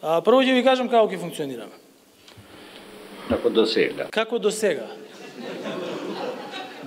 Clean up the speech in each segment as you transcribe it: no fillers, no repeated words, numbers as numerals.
Прво ќе ви кажам како ќе функционираме. Како до сега. Како до сега.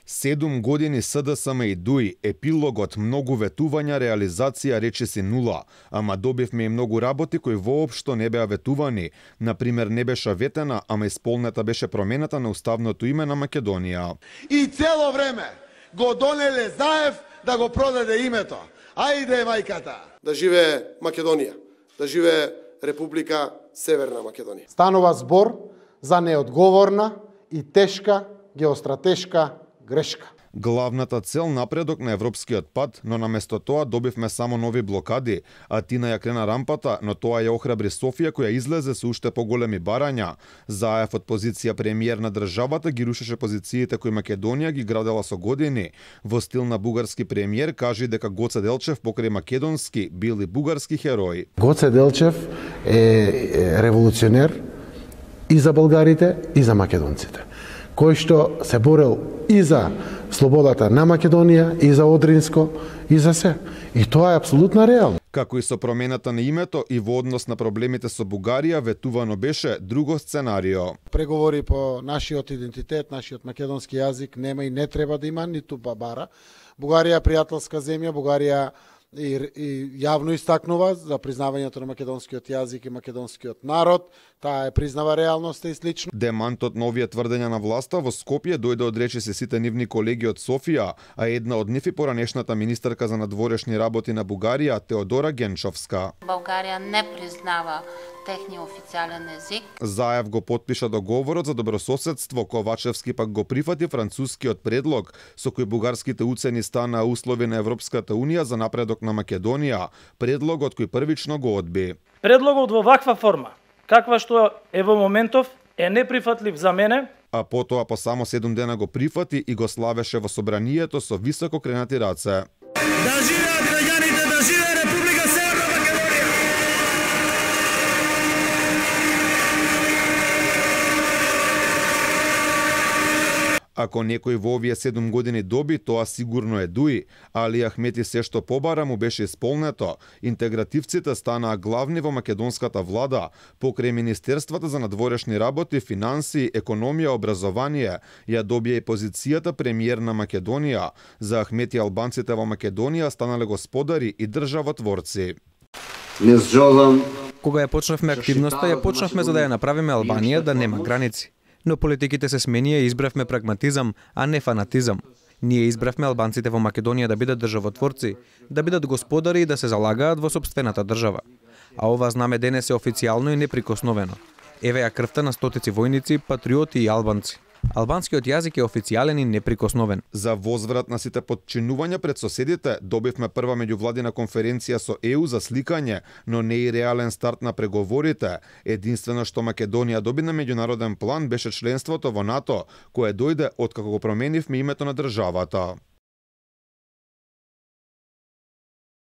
7 години СДСМ и ДУИ, епилогот многу ветувања, реализација речиси нула, ама добивме и многу работи кои воопшто не беа ветувани. Например, не беше ветена, ама исполнета беше промената на уставното име на Македонија. И цело време го донеле Заев да го продаде името. Ајде мајката! Да живее Македонија, да живее Република Северна Македонија. Станува збор за неодговорна и тешка геостратешка грешка. Главната цел напредок на европскиот пат, но наместо тоа добивме само нови блокади, а Тина ја крена рампата, но тоа ја охрабри Софија која излезе со уште поголеми барања. Заев од позиција премиер на државата ги рушеше позициите кои Македонија ги градела со години. Во стил на бугарски премиер кажи дека Гоце Делчев покрај македонски бил и бугарски херои. Гоце Делчев е револуционер и за българите и за македонците, кој што се борел и за слободата на Македонија, и за Одринско, и за се. И тоа е апсолутна реалност. Како и со промената на името и во однос на проблемите со Бугарија, ветувано беше друго сценарио. Преговори по нашиот идентитет, нашиот македонски јазик нема и не треба да има ниту бабара. Бугарија е пријателска земја, Бугарија и јавно истакнува за признавањето на македонскиот јазик и македонскиот народ. Таа е признава реалноста и слично. Демантот на овие тврдења на власта во Скопје дојде од речиси сите нивни колеги од Софија, а една од нив и поранешната министерка за надворешни работи на Бугарија, Теодора Генчовска. Бугарија не признава техниот официјален език. Заев го потпиша договорот за добрососедство, Ковачевски пак го прифати францускиот предлог, со кој бугарските уцени станаа услови на Европската Унија за напредок на Македонија, предлогот кој првично го одби. Предлогот во ваква форма, каква што е во моментов, е неприфатлив за мене. А потоа по само 7 дена го прифати и го славеше во собранието со високо кренати раце. Да живеат граѓаните, да живее Република Северна Македонија! Ако некој во овие 7 години доби, тоа сигурно е ДУИ, Али Ахмети се што побара му беше исполнето. Интегративците станаа главни во македонската влада, покрај Министерствата за надворешни работи, финансии, економија, образование, ја добија и позицијата премиер на Македонија. За Ахмети албанците во Македонија станале господари и државотворци. Кога ја почнавме активноста, ја почнавме за да ја направиме Албанија да нема граници. Но политиките се сменија и избравме прагматизам, а не фанатизам. Ние избравме албанците во Македонија да бидат државотворци, да бидат господари и да се залагаат во сопствената држава. А ова знаме денес е официјално и неприкосновено. Еве ја крвта на стотици војници, патриоти и албанци. Албанскиот јазик е официјален и неприкосновен. За возврат на сите подчинувања пред соседите, добивме прва меѓувладина конференција со ЕУ за сликање, но не и реален старт на преговорите. Единствено што Македонија доби на меѓународен план беше членството во НАТО, кое дојде откако го променивме името на државата.